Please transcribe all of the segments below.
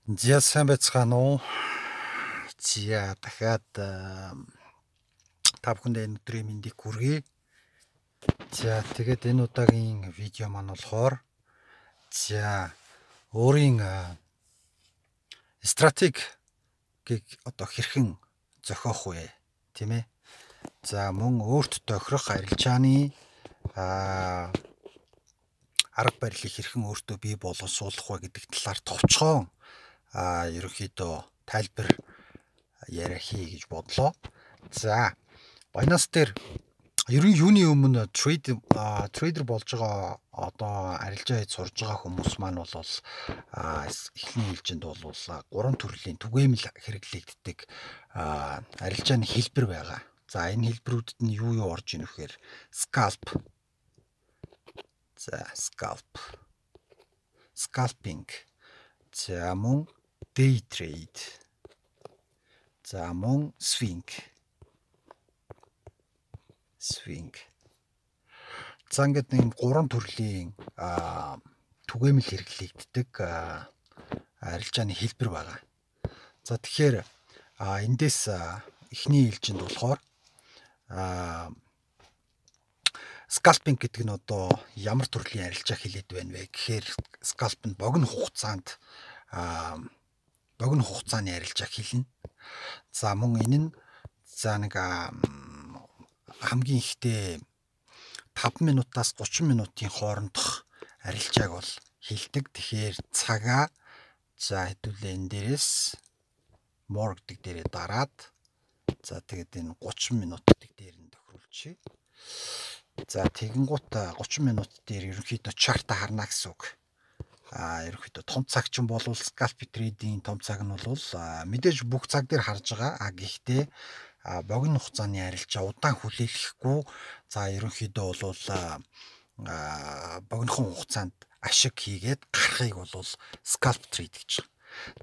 За сайн байцгаана уу? За дахиад та бүхэндээ энэ өдрийн мэндийг хүргэе. За тэгээд энэ удаагийн видео маань болохоор өөрийн стратегийг одоо хэрхэн зохиох вэ, тийм ээ? За мөн өөрт тохирох арилжааны арга барилыг хэрхэн өөртөө бий боловсруулах вэ гэдэг талаар товчхон ерөнхийдөө тайлбар яриа хий гэж бодлоо. За Binance дээр ер нь юуны өмнө трейдер болж байгаа одоо арилжаа хийж сурж байгаа хүмүүс маань бол эхний ээлжинд бол 3 төрлийн түгээмэл хэрэглэгддэг арилжааны хэлбэр байгаа. За энэ хэлбэрүүдэд нь юу орж ийн вэхээр scalping, за мөн day trade, за мөн swing. За ингээд нэг 3 төрлийн түгээмэл хэрэглэгддэг арилжааны хэлбэр байгаа. За тэгэхээр эндээс эхний ээлжинд болохоор scalping гэдэг нь одоо ямар төрлийн арилжаа хэлээд байна вэ гэхээр scalp нь богино хугацааны арилжаа хэлнэ. За мөн энэ нь хамгийн ихдээ 5 минутаас 30 минутын хоорондох арилжааг бол хэлдэг. Тэгэхээр цагаа хэдүүлээ энэ дээрээс more гэдэг дээрээ дараад тэгээд энэ 30 минут гэдэг дээр нь тохируулчихъя. За тэгэнгუთ 30 минут дээр ерөнхийдөө чарта харна гэсэн үг. Ерөнхийдөө том цаг чинь бол scalp trading том цаг нь бол мэдээж бүх цаг дээр харж байгаа. Гэхдээ богино хугацааны арилжаа удаан хүлээлгэхгүй ерөнхийдөө бол богинохон хугацаанд ашиг хийгээд гарахыг бол scalp trade гэж байна.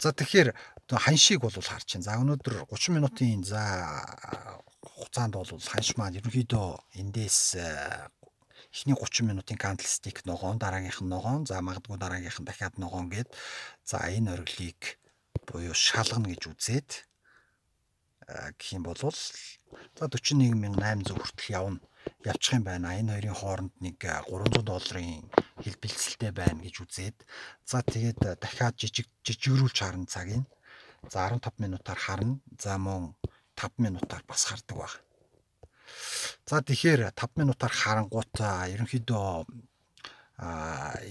За тэгэхээр ханшийг бол харж байна. За өнөөдөр 30 минутын хугацаанд бол ханш маань ерөнхийдөө эндээс эхний 30 минутын candlestick ногоон, дараагийнх нь ногоон, за магадгүй дараагийнх нь дахиад ногоон гээд энэ ориглыг буюу шалгана гэж үзээд гэх юм бол 41800 хүртэл явчих юм байна. Энэ хоёрын хооронд нэг $300 хэлбэлцэлтэй байна гэж үзээд тэгээд дахиад жижигрүүлж харна цагийг. За 15 минутаар харна. За мөн 5 минутаар бас хардаг баг. За тэгэхээр 5 минутаар харангуут ерөнхийдөө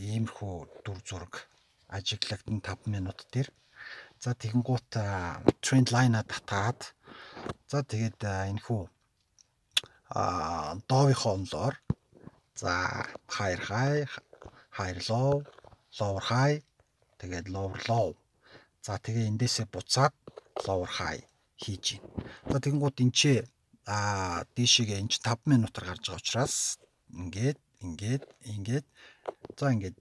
иймэрхүү дүр зураг ажиглагдана 5 минут дээр. За тэгэнгуут тренд лайна татаад тэгээд энэхүү доовийнхоо онлоор higher high, higher low, lower high, тэгээд lower low. За тэгээ эндээсээ буцаад lower high хийж гин. За тэгэнгუთ энэ дээшээгээ энэ 5 минутаар гарч байгаа учраас ингээд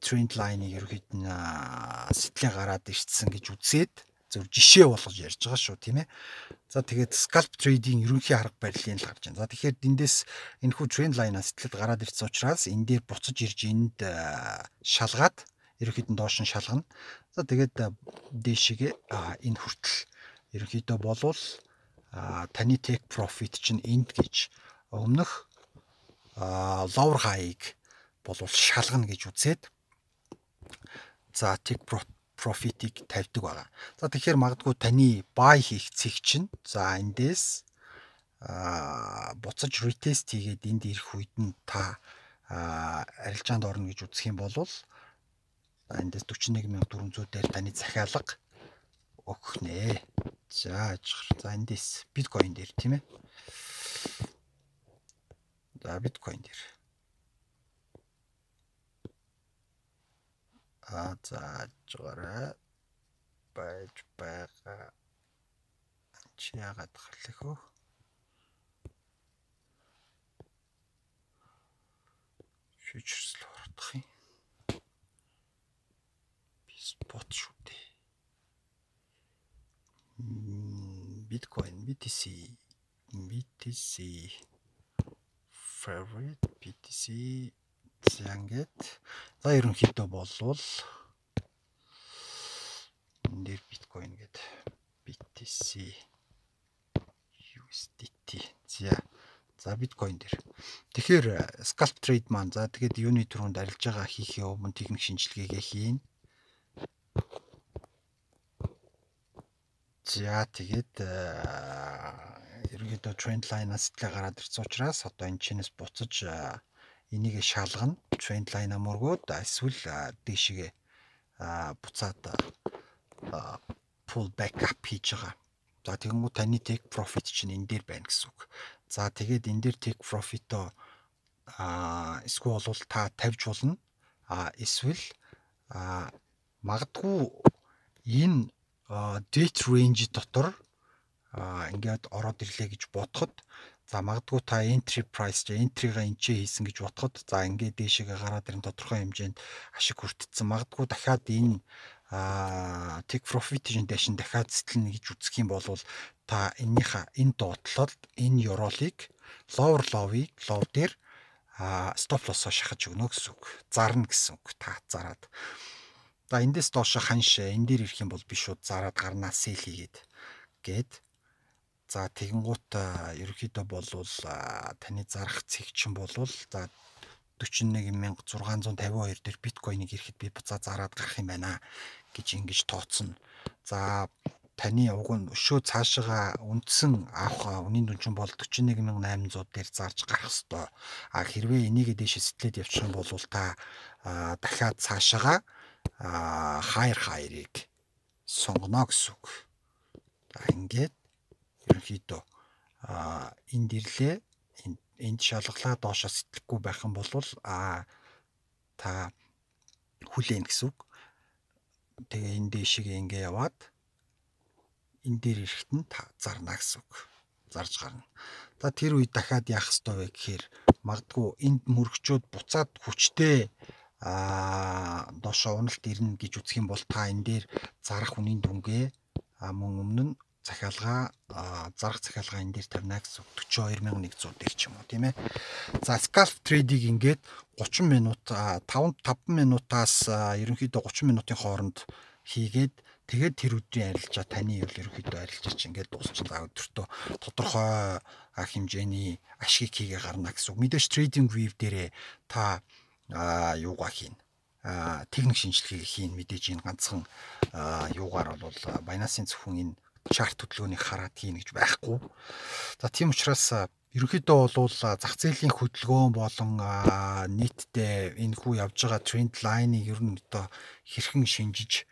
тренд лайныг ерөөхдөө сэтгэлээ гараад ирсэн гэж үзээд зөв жишээ болгож ярьж байгаа шүү, тийм ээ. За тэгээд scalp trading ерөнхий арга барилыг л гарч байна. За тэгэхээр эндээс энэхүү тренд лайнаа сэтгэлд гараад ирсэн учраас энэ дээр буцаж ирж энд шалгаад ерөнхийдөө доош нь шалгана. За тэгээд дээшээгээ энэ хүртэл ерөнхийдөө болвол таны take profit чинь энд гэж өмнөх lower high-ыг болвол шалгана гэж үзээд take profit-ийг тавьдаг байгаа. За тэгэхээр магадгүй таны buy хийх цэг чинь эндээс буцаж retest хийгээд энд ирэх үед нь та арилжаанд орно гэж үзэх юм бол эндээс 41400 дээр таны захиалга өгөх нэ. За эндээс биткойн дээр, тийм ээ. За биткойн дээр. Жаарай байж байгаа. Чи яагаад гарлах вэ? Futures руу орох юм. Би спот шүү дээ. Биткойн, BTC, favorite, BTC за ерөнхийдөө болвол энэ дээр дээр биткойн гэдэг BTC USDT. За биткойн дээр. Тэгэхээр scalp trade маань за тэгээд юуны түрүүнд арилж байгаа хийхээ өмнө техник шинжилгээгээ хийн. За тэгээд ерөнхийдөө тренд лайнаас сэтгэлээ гараад ирсэн учраас одоо энэ чинээс буцаж энийг шалгана. Тренд лайнаа мөргөөд эсвэл дээшгээ буцаад pull back up хийж байгаа. За тэгэнгүүт таны take profit чинь энэ дээр байна гэсэн үг. За тэгээд энэ дээр take profit-оо эсвэл бол та тавьж болно. Эсвэл магадгүй энэ date range дотор ингээд ороод ирлээ гэж бодоход за магадгүй та entry price entry-га энчээ хийсэн гэж бодоход за ингээд дээшээгээ гараад ирэн тодорхой хэмжээнд ашиг хүртсэн. Магадгүй дахиад энэ take profit-ийн дэшин дахиад сэтгэлнэ гэж үзэх юм бол та энэ доотлолд энэ ёроолыг lower low-ыг low дээр stop loss-оо шахаж өгнө гэсэн үг. Зарна гэсэн үг. Та зараад. За эндээс доош ханш энэ дээр ирэх юм бол биш шууд зараад гарнаа sell хийгээд гээд за тэгэнгუут ерөөхдөө болвол таны зарах цэг чинь болвол за 41652 дээр биткойныг ирэхэд би буцаа зараад гарах юм байна гэж ингэж тооцно. За таны уг нь өшөө цаашаа үндсэн авах үнийн дүн чинь бол 41800 дээр зарж гарах ёстой. Хэрвээ энийг дээшээ сэтлээд явчих юм бол та дахиад цаашаа хайрыг сонгоно гэсэн үг. За ингээд ерөнхийдөө энд ирлээ энд шалгалаа доошоо сэтгэхгүй байх юм бол та хүлээн гэсэн үг. Тэгээ энэ дэшигээ ингээ яваад энэ дээр ирэхэд нь та зарна гэсэн үг. Зарж гарна. За тэр үед дахиад яах ёстой вэ гэхээр магадгүй энд мөрөгчөөд буцаад хүчтэй доошоо уналт ирнэ гэж үзэх юм бол та энэ дээр зарах үнийн дүнгээ мөн өмнө нь захиалгаа зарах захиалгаа энэ дээр тавина гэсэн 42100 дээр ч юм уу тийм ээ. За scalp trade-ийг ингээд 30 минут 5 минутаас ерөнхийдөө 30 минутын хооронд хийгээд тэгээд тэр өдрийн арилжаа таны бол ерөнхийдөө арилжаа чинь ингээд дуусчихсан. Өдөртөө тодорхой хэмжээний ашиг хийгээ гарна гэсэн үг. Мэдээж trading view дээрээ та юугаа хийн техник шинжилгээ хийн мэдээж энэ ганцхан юугаар бол Binance-ийн зөвхөн энэ чарт хөдөлгөөнийг хараад хийн гэж байхгүй. За тийм учраас ерөнхийдөө бол зах зээлийн хөдөлгөөн болон нийтдээ энэ хүү явж байгаа тренд лайныг ер нь одоо хэрхэн шинжиж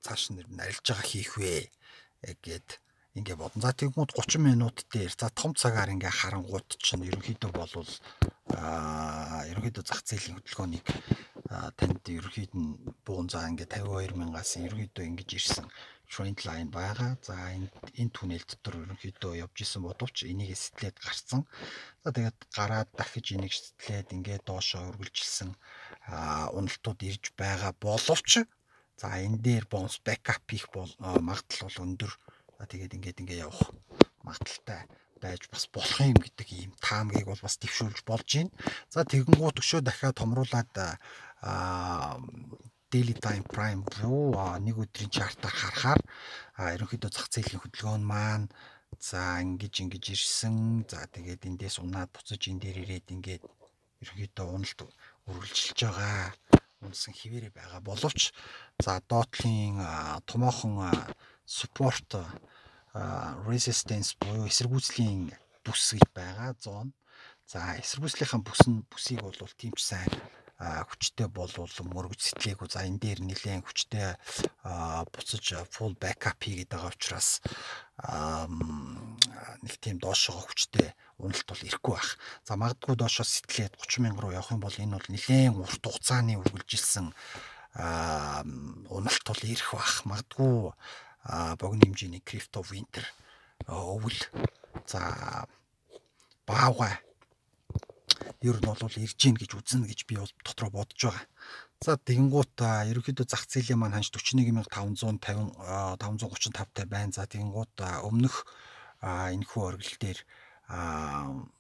цааш нь арилж байгаа хийх вэ гэд ингээ бодно. За тэгмүүд 30 минут дээр за том цагаар ингээ харангуут чинь ерөнхийдөө болвол ерөнхийдөө зах зээлийн хөдөлгөөнийг танд ерөнхийд нь буун за ингээ 52000-аас ерөнхийдөө ингэж ирсэн тренд лайн байгаа. За энэ түнэл дотор ерөнхийдөө явж исэн бодовч энийг сэтлээд гарцсан. За тэгээд гараад дахиж энийг сэтлээд ингээ доошоо өргөлжилсэн уналтууд ирж байгаа боловч за энэ дээр bounce back up хийх магадлал бол өндөр. Тэгээд ингээ явах магадaltaй байж бас болох юм гэдэг ийм таамгийг бол бас дэвшүүлж болж байна. За тэгэнгუут өшөө дахиад томруулаад daily time prime rule нэг өдрийн чартаар харахаар ерөнхийдөө зах зээлийн хөдөлгөөн маань за ингэж ирсэн. За тэгээд эндээс унаад буцаж энэ дээр ирээд ингээд ерөнхийдөө уналт үргэлжилж байгаа. Унсан хിവэрэ байгаа боловч за доотлын томоохон support resistance буюу эсэргүүцлийн бүс гэж байгаа зон. За эсэргүүцлийнхэн бүсийг бол тийм ч сайн хүчтэй болвол мөргөж сэтлэегүй. За энэ дээр нэлээд хүчтэй буцаж full backup хийгээд байгаа учраас нэг тийм доошоо хүчтэй уналт бол ирэхгүй байх. За магадгүй доошоо сэтлээд 30,000 руу явах юм бол энэ бол нэлээд урт хугацааны үргэлжилсэн уналт бол ирэх байх. Магадгүй богино хэмжээний крипто winter өвөл за баавга ер нь бол ирж гин гэж үзнэ гэж би бол дотроо бодож байгаа. За тэгэнгუут ерөнхийдөө зах зээлийн маань ханш 41535 байна. За тэгэнгуут өмнөх энэхүү оргил дээр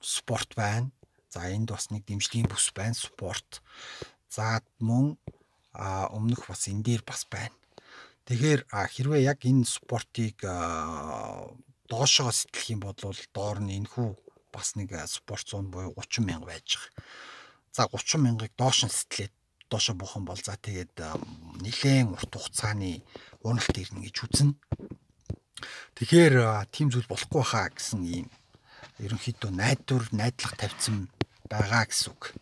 спорт байна. За энд бас нэг дэмжлэгийн бүс байна спорт. За мөн өмнөх бас энэ дээр бас байна. Тэгэхээр хэрвээ яг энэ спортыг доошоо сэтгэх юм бол доор нь энэхүү бас нэг спорт зон буюу 30,000 байж байгаа. За 30,000-ыг доош нь сэтгэлээд доошоо буухан бол за тэгээд нэлээд урт хугацааны уналт ирнэ гэж үзнэ. Тэгэхээр тийм зүйл болохгүй хаа гэсэн ийм ерөнхийдөө найдлага тавьсан байгаа гэсэн үг.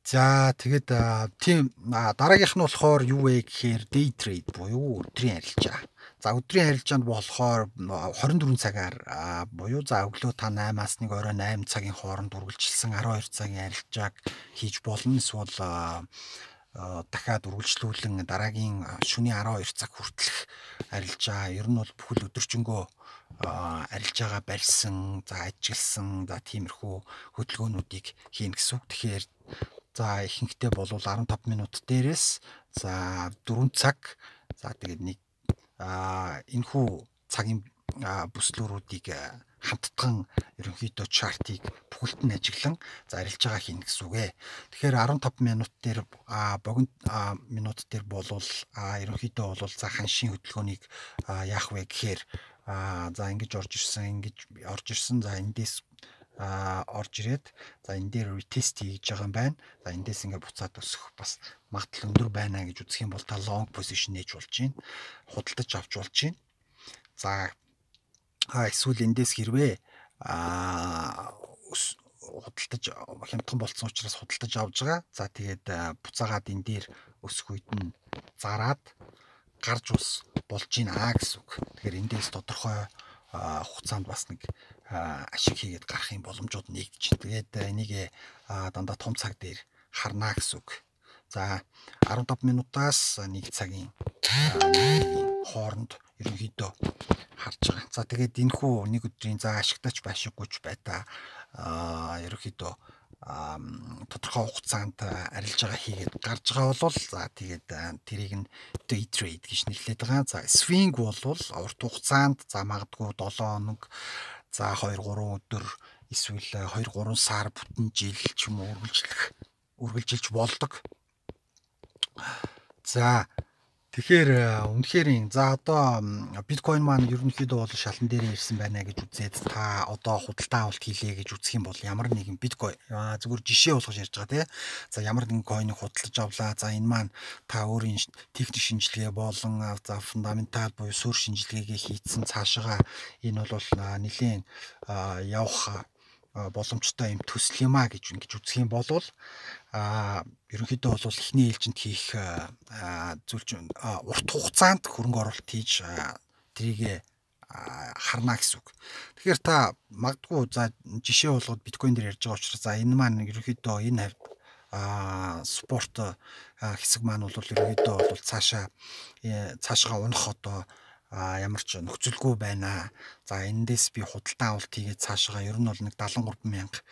За тэгээд тийм дараагийнх нь болохоор юу вэ гэхээр day trade буюу өдрийн арилжаа. За өдрийн арилжаанд болохоор 24 цагаар буюу за өглөө та 8-аас нэг орой 8 цагийн хооронд үргэлжилсэн 12 цагийн арилжааг хийж болно. Эсвэл дахиад үргэлжлүүлэн дараагийн шөнийн 12 цаг хүртэлх арилжаа ер нь бол бүхэл өдөржингөө арилжаагаа барьсан, за ажилласан, за тиймэрхүү хөдөлгөөнүүдийг хийн гэсэн үг. Тэгэхээр за ихэнхдээ бол 15 минут дээрээс за 4 цаг за тэгээд нэг энэхүү цагийн бүслүүрүүдийг хамтдаган ерөнхийдөө чартыг бүхэлд нь ажиглан за арилжаагаа хийнэ гэсэн үг ээ. Тэгэхээр 15 минут дээр богино минут дээр болвол ерөнхийдөө бол за ханшийн хөдөлгөөнийг яах вэ гэхээр за ингэж орж ирсэн за эндээс орж ирээд за энэ дээр ретест хийж байгаа юм байна. За эндээс ингээ буцаад өсөх бас магадлал өндөр байна гэж үзэх юм бол та long position нээж болж байна. Худалдаж авч болж байна. За эсвэл эндээс хэрвээ худалдаж хямдхан болцсон учраас худалдаж авж байгаа. За тэгээд буцаагаад энэ дээр өсөх үед нь зараад гарч ус болж байна гэсэн үг. Тэгэхээр эндээс тодорхой хугацаанд бас нэг ашиг хийгээд гарах юм боломжууд нэгдэж. Тэгээд энийг дандаа том цаг дээр харна гэсэн үг. За 15 минутаас 1 цагийн хооронд ерөнхийдөө харж байгаа. За тэгээд энэхүү нэг өдрийн за ашигтайч ашиггүйч байта ерөнхийдөө тодорхой хугацаанд арилжаагаа хийгээд гарч байгаа бол за тэгээд тэрийг нь day trade гэж нэрлэдэг байгаа. За swing бол урт хугацаанд за магадгүй 7 хоног за 2-3 өдөр эсвэл 2-3 сар бүтэн жил ч юм уу үргэлжилж болдог. За тэгэхээр үнэхээр за одоо биткойн маань ерөнхийдөө бол шалан дээр ирсэн байна гэж үзээд та одоо худалдаа авалт хийлээ гэж үзэх юм бол ямар нэгэн биткойн зөвхөн жишээ болгож ярьж байгаа тийм. За ямар нэгэн койныг худалдаж авлаа. За энэ маань та өөрийн техник шинжилгээ болон за фундаментал буюу суурь шинжилгээгээ хийцэн цаашаа энэ бол нэлийн явах боломжтой юм төсөл юм гэж үзэх юм бол ерөнхийдөө бол эхний ээлжинд хийх зүйл урт хугацаанд хөрөнгө оруулалт хийж тэрийг харна гэсэн үг. Тэгэхээр та магадгүй за жишээ болгоод биткойн дээр ярьж байгаа учраас за энэ маань ерөнхийдөө энэ хавьд спорт хэсэг маань бол ерөнхийдөө бол цаашаа унах одоо ямар ч нөхцөлгүй байна. За эндээс би худалдаа авалт хийгээд цаашаа ер нь бол нэг 73,000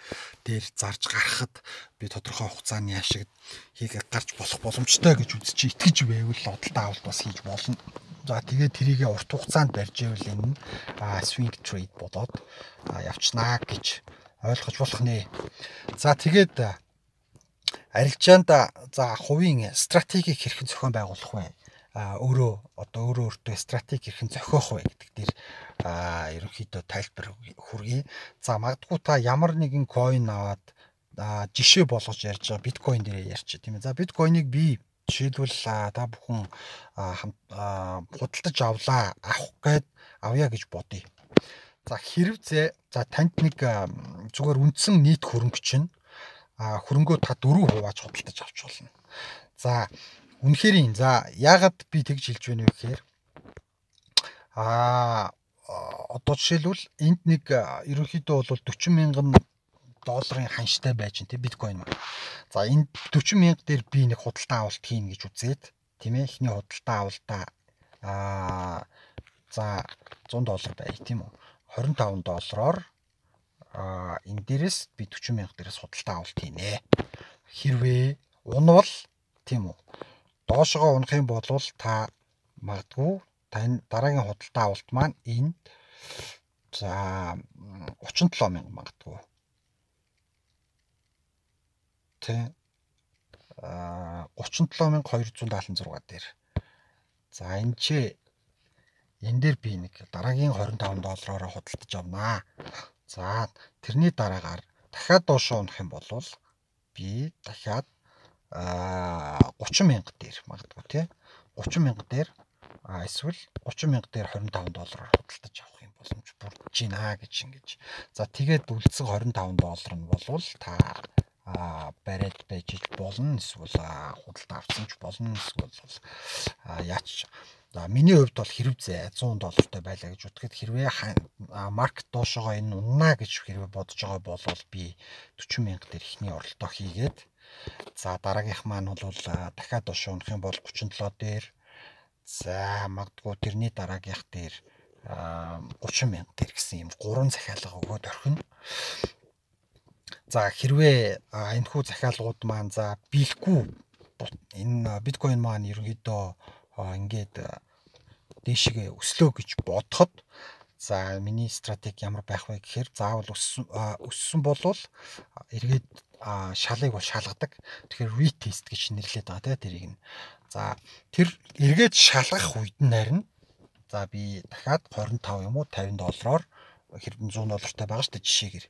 дээр зарж гарахад би тодорхой хугацааны ашиг хийгээд гарч болох боломжтой гэж үзэж итгэж байвал худалдаа авалт бас хийж болно. За тэгээд тэрийг урт хугацаанд барьж ивэл энэ swing trade болоод явчнаа гэж ойлгож болох нэ. За тэгээд арилжаанд за хувийн стратегийг хэрхэн зохион байгуулах вэ? Өөртөө стратеги хэрхэн зохиох вэ гэдэг дээр ерөнхийдөө тайлбар хүргэе. За магадгүй та ямар нэгэн койн аваад жишээ болгож ярьж байгаа биткойн дээр ярьчих тийм ээ. За биткойныг би жишээлбэл та бүхэн худалдаж авах гээд авъя гэж бодъё. За хэрвээ за танд нэг зүгээр үндсэн нийт хөрөнгө чинь хөрөнгөө та 4 хувааж худалдаж авч болно. За үнэхээр за яагаад би тэгж хэлж байна вэ гэхээр одоо жишээлбэл энд нэг ерөнхийдөө бол 40,000 долларын ханштай байж байна тийм биткойн маань. За энэ 40,000 дээр би нэг худалдаа авалт хийн гэж үзээд тийм ээ. Эхний худалдаа авалтаа за $100 бай тийм үү. $25 энэ дээрээс би 40,000 дээрээс худалдаа авалт хийнэ. Хэрвээ унвал тийм үү. Доошогоо унах юм бол та магадгүй тань дараагийн худалдаа авалт маань энд за 37,000 магадгүй. Тэ 37276 дээр. За энэ дээр би нэг дараагийн $25-оор худалдаж авнаа. За тэрний дараагаар дахиад доошоо унах юм бол би дахиад 30,000 дээр магадгүй тий 30,000 дээр эсвэл 30,000 дээр $25-оор худалдаж авах юм боломж бүрдэж байна гэж ингэж. За тэгээд үлдсэн $25 нь бол та бариад байж болно, эсвэл худалдаа авсан ч болно, эсвэл яач. За миний хувьд бол хэрэг зэ $100 байлаа гэж утгад хэрвээ маркет доошоогоо энэ уннаа гэж хэрвээ бодож байгаа бол би 40,000 дээр ихний оролдоо хийгээд за дараагийнх маань бол дахиад доошоо унах юм бол 37 дээр. За магадгүй тэрний дараагийнх дээр 30,000 дээр гэсэн юм 3 захиалга өгөөд орхино. За хэрвээ энэхүү захиалгууд маань за биелэхгүй энэ биткойн маань ерөнхийдөө ингээд дээшгээ өслөө гэж бодоход за миний стратеги ямар байх вэ гэхээр заавал өссөн болвол эргээд шалыг бол шалгадаг. Тэгэхээр retest гэж нэрлэдэг байгаа тэрийг нь. За тэр эргээд шалгах үед нь харин за би дахиад 25 юм уу $50-оор хэрвээ $100 байгаа шүү дээ жишээгээр.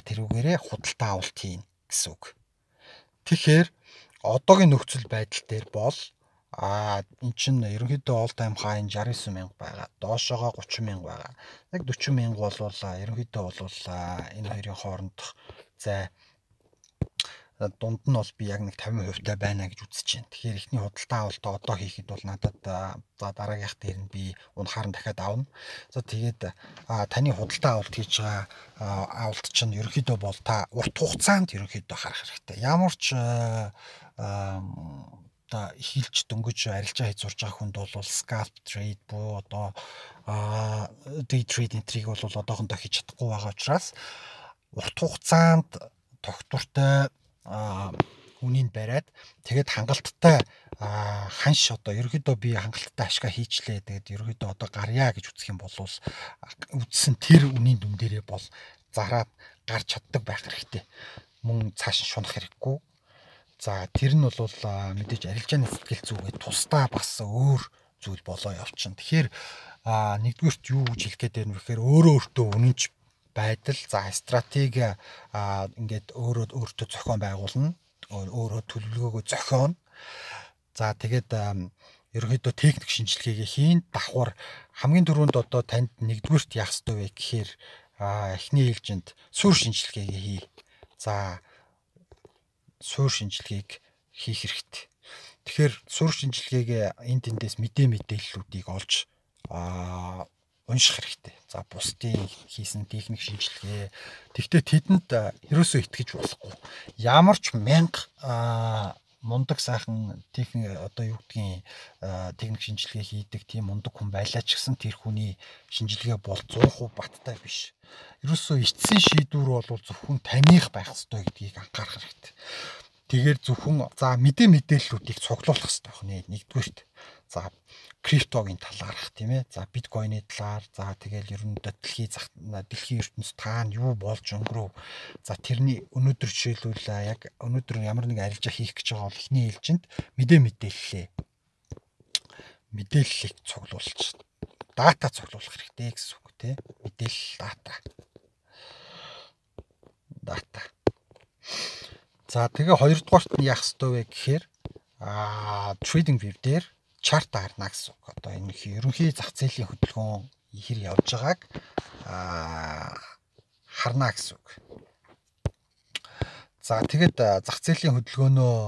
Тэрүүгээрээ худалдаа авалт хийн гэсэн үг. Тэгэхээр одоогийн нөхцөл байдал дээр бол эн чинь ерөнхийдөө all time high 69,000 байгаа. Доошоогоо 30,000 байгаа. Яг 40,000 бол ерөнхийдөө бол энэ хоёрын хоорондох зай дунд нь бол би яг нэг 50% та байна гэж үзэж байна. Тэгэхээр эхний худалдаа авалтаа одоо хийхэд бол надад за дараагийнх дээр нь би унахаар нь дахиад авна. За тэгээд таны худалдаа авалт хийж байгаа авалт чинь ерөнхийдөө бол та урт хугацаанд ерөнхийдөө харах хэрэгтэй. Ямар ч эхэлж дөнгөж арилжаа хийж сурж байгаа хүнд бол scalp trade буюу одоо day trade энтриг бол одоохондоо хийж чадахгүй байгаа учраас урт хугацаанд тогтвортой үнийг бариад тэгээд хангалттай ханш одоо ерөөдөө би хангалттай ашгаа хийчлээ тэгээд ерөөдөө одоо гарья гэж үзэх юм бол үдсэн тэр үнийн дүн дээрээ бол зараад гарч чаддаг байх хэрэгтэй. Мөн цааш нь шунах хэрэггүй. За тэр нь бол мэдээж арилжааны сэтгэл зүгээ тусдаа бас өөр зүйл болоо явчихна. Тэгэхээр нэгдүгürt юу гэж хэлэх гээд байна вэ гэхээр өөрөө үнэнч байдал за стратеги ингээд өөртөө зохион байгуулна, өөрөө төлөвлөгөөгөө зохионо. За тэгээд ерөнхийдөө техник шинжилгээгээ хийн, давхар хамгийн түрүүнд одоо танд нэгдүгürt яах ёстой вэ гэхээр эхний ээлжинд суурь шинжилгээгээ хий. За суурь шинжилгээг хийх хэрэгтэй. Тэгэхээр суурь шинжилгээгээ энд тэндээс мэдээллүүдийг олж унших хэрэгтэй. За бусдын хийсэн техник шинжилгээ. Тэгвэл тэдэнд ерөөсөө итгэж болохгүй. Ямар ч мянга мундаг сайхан техник одоо юу гэдгийг техник шинжилгээ хийдэг тийм мундаг хүн байлаа ч гэсэн тэр хүний шинжилгээ бол 100% баттай биш. Ерөөсөө эцсийн шийдвэр бол зөвхөн таних байх ёстой гэдгийг анхаарах хэрэгтэй. Тэгээд зөвхөн за мэдээллүүдийг цуглуулах хэрэгтэй байна. Нэгдүгürt за криптогийн талаарх тийм ээ. За биткойны талаар за тэгэл ерөнхийдөө дэлхийн ертөнцид таана юу болж өнгөрөв. За тэрний өнөөдөр жишээлбэл яг өнөөдөр ямар нэг арилжаа хийх гэж байгаа бол эхний ээлжинд мэдээллийг цуглуулж дата цуглуулах хэрэгтэй гэсэн үг тийм. Мэдээлэл дата. За тэгээ хоёрдугаарт нь яах ёстой вэ гэхээр trading view дээр чарт харна гэсэн үг. Одоо энэ ерөнхий зах зээлийн хөдөлгөөн хэр явж байгааг харна гэсэн үг. За тэгээд зах зээлийн хөдөлгөөнөө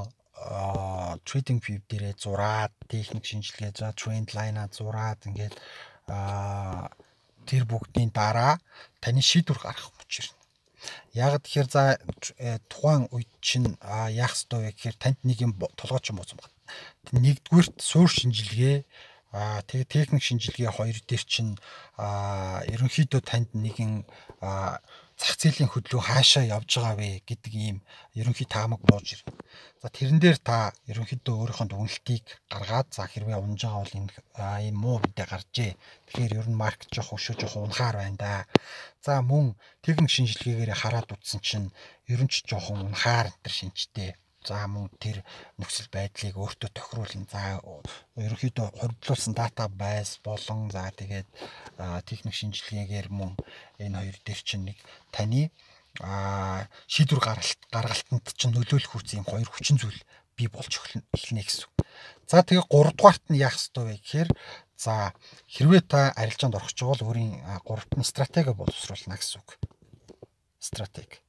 trading view дээрээ зураад техник шинжилгээ за trend line-а зураад ингээд тэр бүгдийн дараа таны шийдвэр гаргах учирна. Яг тэгэхээр за тухайн үед чинь яах ёстой вэ гэхээр танд нэг юм толгой ч юм уу. Нэгдүгürt суурь шинжилгээ тэгээ техник шинжилгээ хоёр дээр чинь ерөнхийдөө танд нэгэн зах зээлийн хөдөлгөөн хаашаа явж байгаа вэ гэдэг ийм ерөнхий таамаг бууж ирнэ. За тэрэн дээр та ерөнхийдөө өөрийнхөө дүгнэлтийг гаргаад за хэрвээ унж байгаа бол энэ ийм муу үедээ гарчээ. Тэгэхээр ер нь маркет жоох унахаар байна да. За мөн техник шинжилгээгээр хараад утсан чинь ер нь ч жоохон унахаар энэ шинжтэй. За мөн тэр нөхцөл байдлыг өөртөө тохируулна. За ерөнхийдөө хоригдлуулсан database болон за тэгээд техник шинжилгээгээр мөн энэ хоёр дээр чинь нэг таны шийдвэр гаргалтанд чинь нөлөөлөх үүс юм хоёр хүчин зүйл бий болж эхэлнэ гэсэн. За тэгээ 3 дугаарт нь яах ёстой вэ гэхээр за хэрвээ та арилжаанд орох гэж бол өөрийн 3-т нь стратеги боловсруулна гэсэн үг. Стратеги.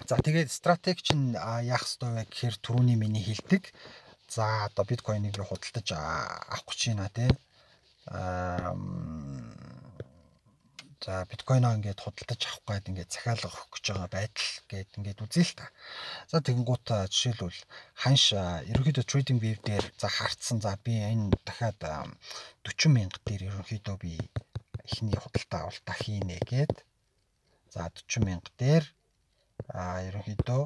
За тэгээд стратеги чинь яах ёстой вэ гэхээр түрүүний миний хэлдэг. За одоо биткойныг би худалдаж авах гэж байна тий. За биткойноо ингээд худалдаж авах гээд ингээд захиалга өгөх гэж байгаа байдал гээд ингээд үзье л та. За тэгэнгუთ жишээлбэл ханш ерөнхийдөө trading view дээр за хартсан. За би энэ дахиад 40,000 дээр ерөнхийдөө би эхний худалдаа авалтаа хийнэ гээд за 40,000 дээр ерөнхийдөө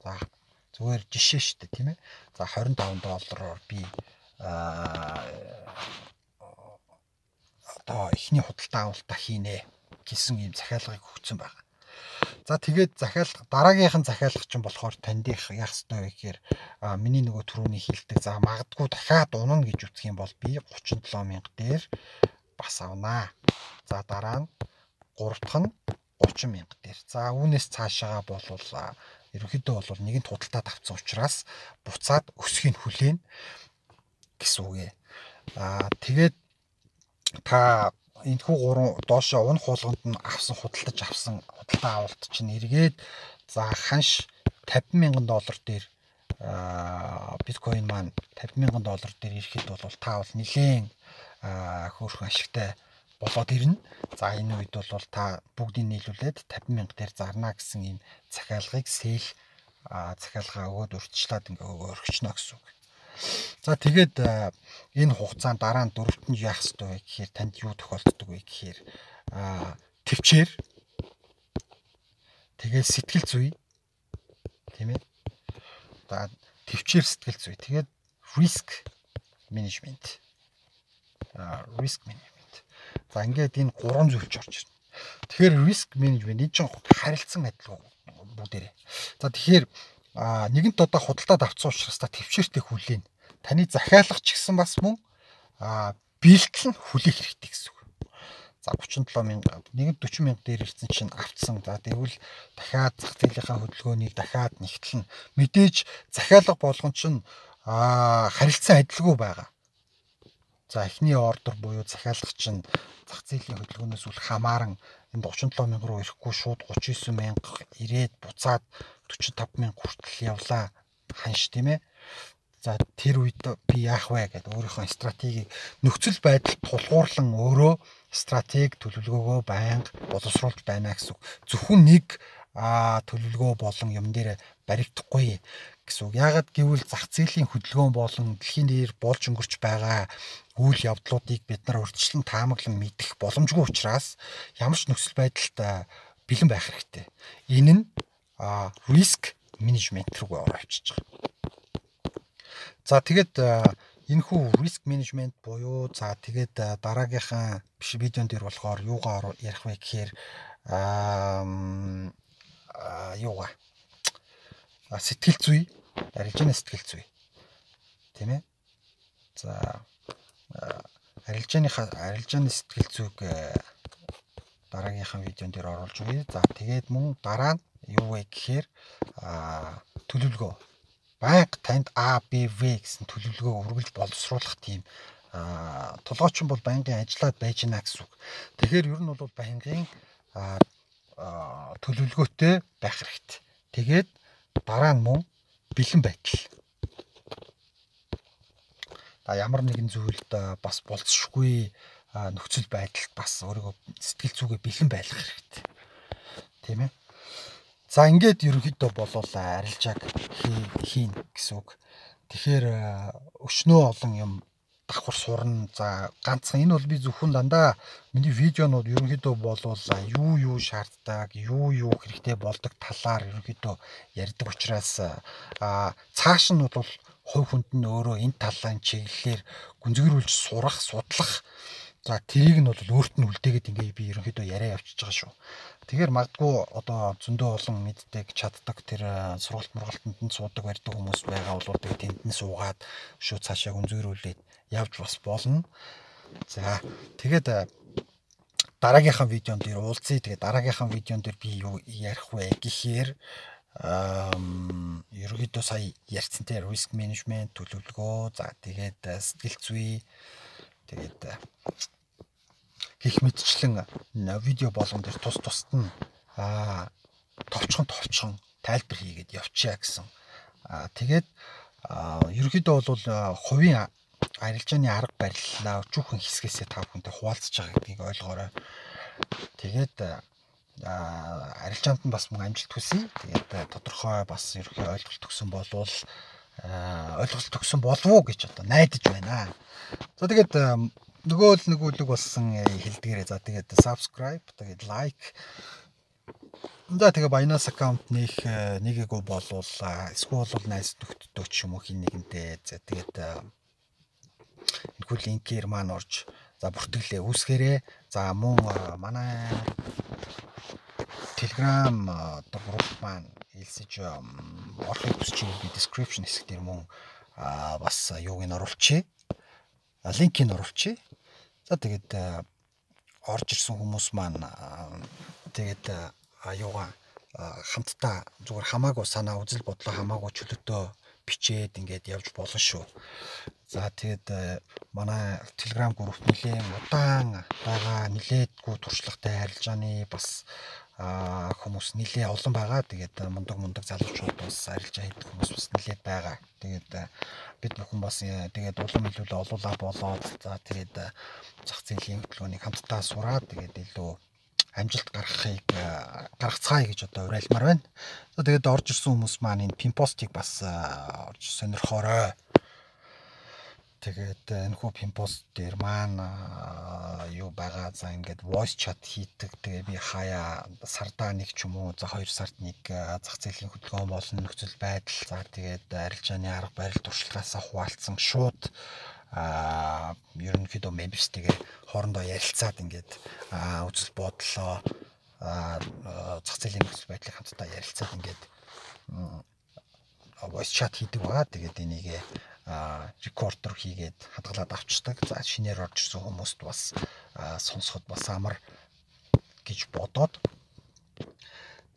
за зүгээр жишээ шүү дээ тийм ээ. За $25 би одоо эхний худалдаа авалтаа хийнэ гэсэн ийм захиалгыг өгсөн байна. За тэгээд захиалга дараагийнхан захиалга чинь болохоор танд яах ёстой вэ гэхээр миний нөгөө түрүүний хэлдэг за магадгүй дахиад унана гэж үздэх юм бол би 37,000 дээр бас авнаа. За дараа нь 3 дахь нь 30,000 дээр. За үүнээс цаашаага болвол ерөнхийдөө бол нэгэнт худалдаад авсан учраас буцаад өсөхийг хүлээн гэсэн үг ээ. Тэгээд та энэхүү 3 доошоо унах хулганд нь авсан худалдаа авалт чинь эргээд за ханш $50,000 дээр биткойн маань $50,000 дээр ирэхэд бол та бол нэлээд хөөрхөн ашигтай болоод ирнэ. За энэ үед бол та бүгдийг нийлүүлээд 50,000 дээр зарна гэсэн ийм захиалгыг захиалгаа өгөөд урьдчилаад ингээ өргөчнө гэсэн үг. За тэгээд энэ хугацаанд дараа нь 4-т нь яах ёстой вэ гэхээр танд юу тохиолддог вэ гэхээр төвчээр тэгээд сэтгэл зүй тийм ээ. За төвчээр сэтгэл зүй тэгээд risk management. За ингээд энэ 3 зүйлч орж ирнэ. Тэгэхээр risk management энэ чинь харилцан адилхан бүгдээрээ. За тэгэхээр нэгэнт одоо худалдаад авсан учраас та төвчээртэй хүлээн. Таны захиалга ч гэсэн бас мөн бэлтгэл нь хүлээх хэрэгтэй гэсэн үг. За 37,000 нэгэнт 40,000 дээр ирсэн чинь авцсан. За тэгвэл дахиад зах зээлийнхаа хөдөлгөөнийг дахиад нэгтлэн мэдээж захиалга болгон чинь харилцан адилгүй байгаа. За эхний ордер буюу захиалга чинь зах зээлийн хөдөлгөөнөөс үл хамааран энд 37,000 руу ирэхгүй шууд 39,000 ирээд буцаад 45,000 хүртэл явлаа ханш тийм ээ. За тэр үед би яах вэ гэдэг өөрийнхөө стратегийг нөхцөл байдалд тулгуурлан өөрөө стратеги төлөвлөгөөгөө байнга боловсруулж байна гэсэн үг. Зөвхөн нэг төлөвлөгөө болон юм дээр баригдахгүй гэсэн үг. Яагаад гэвэл зах зээлийн хөдөлгөөн болон дэлхийн дээр болж өнгөрч байгаа үйл явдлуудыг бид нар урьдчилан таамаглан мэдэх боломжгүй учраас ямар ч нөхцөл байдалд бэлэн байх хэрэгтэй. Энэ нь risk management руу ороо авчиж байгаа. За тэгээд энэхүү risk management буюу за тэгээд дараагийнхаа видеон дээр болохоор юугаар ярих вэ гэхээр сэтгэл зүй, арилжааны сэтгэл зүй. Тийм ээ. За арилжааны сэтгэл зүйг дараагийнхаа видеон дээр оруулж өгье. За тэгээд мөн дараа нь юу вэ гэхээр төлөвлөгөө. Байнга танд А, Б, В гэсэн төлөвлөгөө үргэлж боловсруулах тийм толгойч бол байнгын ажиллаад байж гинэ гэсэн үг. Тэгэхээр ер нь бол байнгын төлөвлөгөөтэй байх хэрэгтэй. Тэгээд дараа нь мөн бэлэн байдал. Ямар нэгэн зүйлд бас болцсохгүй нөхцөл байдалд бас өөрийгөө сэтгэл зүгээ бэлэн байлгах хэрэгтэй. Тийм ээ. За ингээд ерөнхийдөө болол арилжааг хийн гэсэн үг. Тэгэхээр өчнөө олон юм давхар сурна. За ганцхан энэ бол би зөвхөн дандаа миний видеонууд ерөнхийдөө болвол юу шаарддаг, юу хэрэгтэй болдог талаар ерөнхийдөө ярьдаг учраас цааш нь бол хувь хүнд нь өөрөө энэ талын чиглэлээр гүнзгийрүүлж сурах, судлах За тэрийг нь бол өөрт нь үлдээгээд ингээ би ерөнхийдөө яриа явчихж байгаа шүү. Тэгэхээр магадгүй одоо зөндөө олон мэддэг, чаддаг тэр сургалт мургалтанд суудаг барьдаг хүмүүс байгаа бол тэгээд тэнд нь суугаад шууд цаашаа гүнзгийрүүлээд явж бас болно. За тэгээд дараагийнхаа видеон дээр уулзъя. Тэгээд дараагийнхаа видеон дээр би юу ярих вэ гэхээр ерөнхийдөө сая ярьцантай risk management төлөвлөгөө, за тэгээд сэтгэл зүй, тэгээд гэх мэтчлэн видео болгон дээр тусад нь товчхон тайлбар хийгээд явчаа гэсэн. Тэгээд ерөнхийдөө бол хувийн арилжааны арга барилаа өчүүхэн хэсгээсээ та бүхэнтэй хуваалцаж байгаа гэдгийг ойлгоорой. Тэгээд арилжаанд нь бас мөн амжилт хүсье. Тэгээд тодорхой бас ерөнхий ойлголт өгсөн болов уу гэж одоо найдаж байна. За тэгээд нөгөө болсон хэлдгээрээ. За тэгээд subscribe, тэгээд like. За тэгээд Binance аккаунт нэгээгүй болвол эсвэл найз нөхдөдөө ч юм уу хин нэгэндээ. За тэгээд энэхүү линкээр маань орж за бүртгэлээ үүсгээрээ. За мөн манай Telegram групп маань хэлсэж орохыг хүсч байгаа би description хэсэг дээр мөн бас юуг нь оруулчихъя. Линкийг нь оруулчихъя. За тэгээд орж ирсэн хүмүүс маань тэгээд юугаа хамтдаа зүгээр хамаагүй санаа үзэл бодлоо хамаагүй чөлөөтөө бичээд ингээд явж болно шүү. За тэгээд манай Telegram групп нэлээд удаан байгаа, нэлээдгүй туршлагатай арилжааны бас хүмүүс нэлээд олон байгаа. Тэгээд мундаг залуучууд бас арилжаа хийдэг хүмүүс бас нэлээд байгаа. Тэгээд бид бүхэн бас тэгээд улам илүү олуулаа болоод за тэгээд зах зээлийн хөтөлбөрийг хамтдаа сураад тэгээд илүү амжилт гаргацгаая гэж одоо уриалмаар байна. За тэгээд орж ирсэн хүмүүс маань энэ пинпостыг бас орж сонирхоорой. Тэгээд энэхүү пинпост дээр маань юу байгаа. За ингээд voice chat хийдэг. Тэгээ би хаяа сардаа нэг ч юм уу за 2 сард нэг зах зээлийн хөдөлгөөн болон нөхцөл байдал. За тэгээд арилжааны арга барил туршлагаасаа хуваалцсан шууд ерөнхийдөө membersтэйгээ хоорондоо ярилцаад ингээд үзэл бодлоо зах зээлийн нөхцөл байдлыг хамтдаа ярилцаад ингээд voice chat хийдэг байгаа. Тэгээд энийг рекордер хийгээд хадгалаад авчдаг. За шинээр орж ирсэн хүмүүст бас сонсоход бас амар гэж бодоод.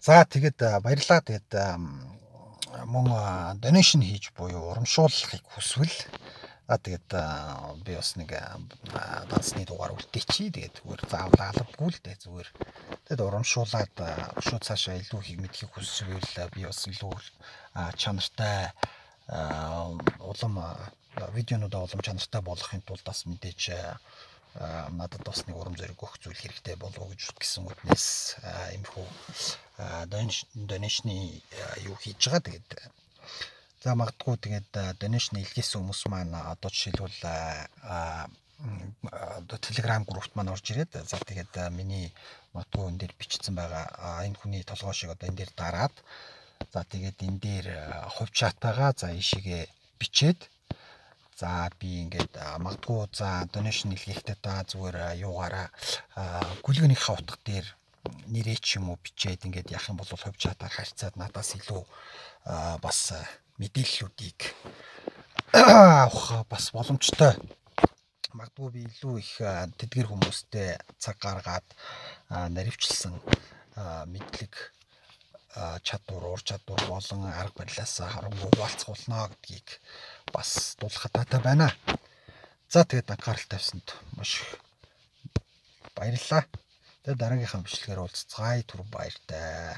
За тэгээд баярлалаа. Тэгээд мөн donation хийж буюу урамшууллахыг хүсвэл тэгээд би бас нэг дансны дугаар үлдээчи. Тэгээд зүгээр заавал албагүй л дээ зүгээр. Тэгээд урамшуулаад шууд цаашаа илүү их мэдхийг хүсвэл би бас илүү чанартай улам видеонуудаа улам чанартай болгохын тулд бас мэдээж надад бас нэг урам зориг өгөх зүйл хэрэгтэй болов уу гэж гисэн үднээс иймэрхүү donation-ы юу хийж байгаа. Тэгээд за магадгүй тэгээд donation илгээсэн хүмүүс маань одоо жишээлбэл Telegram группт маань орж ирээд за тэгээд миний магадгүй энэ дээр бичсэн байгаа энэ хүний толгойшиг одоо энэ дээр дараад за тэгээд энэ дээр хувь чатаага за ишигээ бичээд за би ингээд магадгүй за donation илгээхдээ та зүгээр юугаараа гүлгэнийхээ утга дээр нэрээ ч юм уу бичээд ингээд яах юм бол хувь чатаар харьцаад надаас илүү бас мэдээллүүдийг авах бас боломжтой. Магадгүй би илүү их тэдгэр хүмүүстэй цаг гаргаад наривчлсан мэдлэг чадвар, ур чадвар болон арга барилаас харангуй хуваалцуулна гэдгийг бас дуулахад таатай байна. За тэгээд анхаарал тавьсанд маш баярлалаа. Тэгээд дараагийнхаа бичлэгээр уулзцгаая. Түр баяртай.